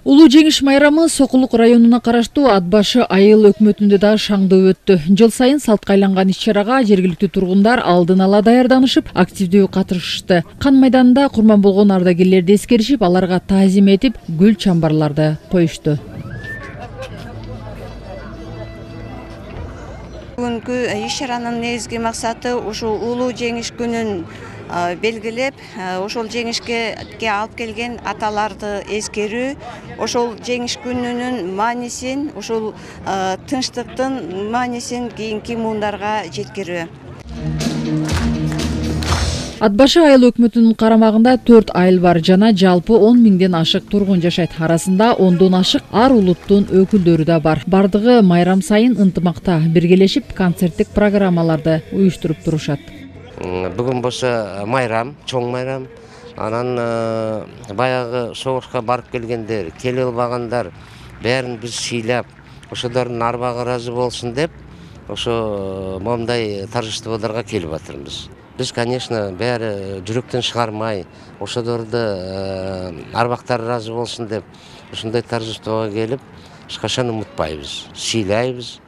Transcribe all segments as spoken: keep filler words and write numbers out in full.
Улуу жеңиш майрамы Сокулук районуна караштуу Ат башы айыл өкмөтүндө да шаңдуу өттү. Жыл сайын салтка айланган иш-чарага жергиликтүү тургундар алдын ала даярданышып, активдүү катышышты. Кан майданында курман болгон ардагерлерди эскеришип, аларга таазим этип, гүл чамбарларды коюшту. Бүгүнкү иш-чаранын негизги максаты ушул улуу жеңиш күнүн белгилеп, ошол жеңишке алып келген аталарды эскерүү, ошол жеңиш күнүнүн маанисин, ошол тынчтыктын маанисин кийинки муундарга жеткирүү. Ат башы айыл өкмөтүнүн карамагында төрт айыл бар жана жалпы он миңден ашык тургун жашайт. Арасында ондон ашык ар улуттун өкүлдөрү да бар. Бардыгы майрам сайын ынтымакта биргелешип, концерттик программаларды уюштуруп турушат. Бүгүн болсо майрам, чоң майрам. Анан баягы согушка барып келгендер, келе албагандар бәрін биз сыйлап, ошолордун арбагы ыраазы болсун деп, ошо момундай торжестволорго келип атырбыз. Биз, конечно, бәрі жүрөктөн чыгармай, ошолорду арбактары ыраазы болсун деп, ушундай торжествого келип, эч качан унутпайбыз, сыйлайбыз.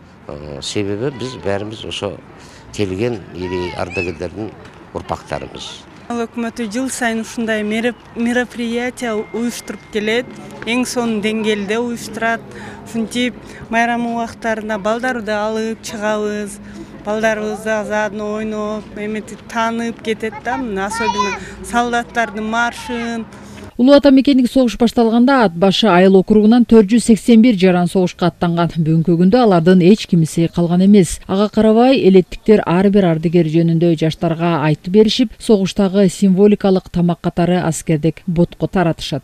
Себеби биз бәрибиз ошо келген ири ардагерлердин урпактарыбыз. Өкмөтү жыл сайын ушундай мероприятие уюштуруп келет, эң сонун деңгээлде уюштурат. Ушинтип майрам убактарында балдарды алып чыгабыз, балдарыбызды заодно ойноп, эметип таанып кетет да, особенно солдаттардын маршын. Улуу ата мекендик согуш башталганда Ат башы айыл округунан төрт жүз сексен бир жаран согушка аттанган. Бүгүнкү күндө алардын эч кимиси калган эмес. Ага карабай, элеттиктер ар бир ардагер жөнүндө жаштарга айтып беришип, согуштагы символикалык тамак катары аскердик ботко таратышат.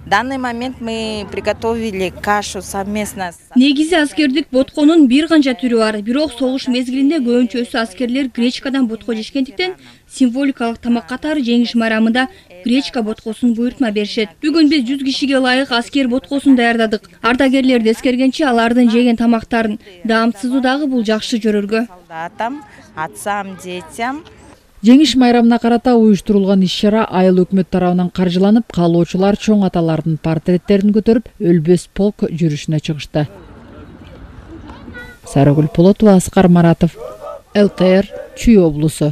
В данный момент мы приготовили кашу совместно. Негизи аскердик ботконун бир канча түрү бар. Бирок согуш мезгилинде көбүнчөсү аскерлер гречкадан ботко жешкендиктен символикалык тамак катары жеңиш майрамында гречка боткосун буйртма беришет. Бүгүн биз жүз кишиге ылайык аскер боткосун даярдадык. Ардагерлерди эскергенче алардын жеген тамактарын даамсызуу дагы бул жакшы көрөргө. Солдатам, атсам, детям. Жеңиш майрамына карата уюштурулган иш-чара айыл өкмөт тарабынан каржыланып, каалоочулар чоң аталардын портреттерин көтөрүп, өлбөс полк жүрүшүнө чыгышты. Сарыгүл Полотова, Аскар Маратов, эл тэ эр, Чүй облусу.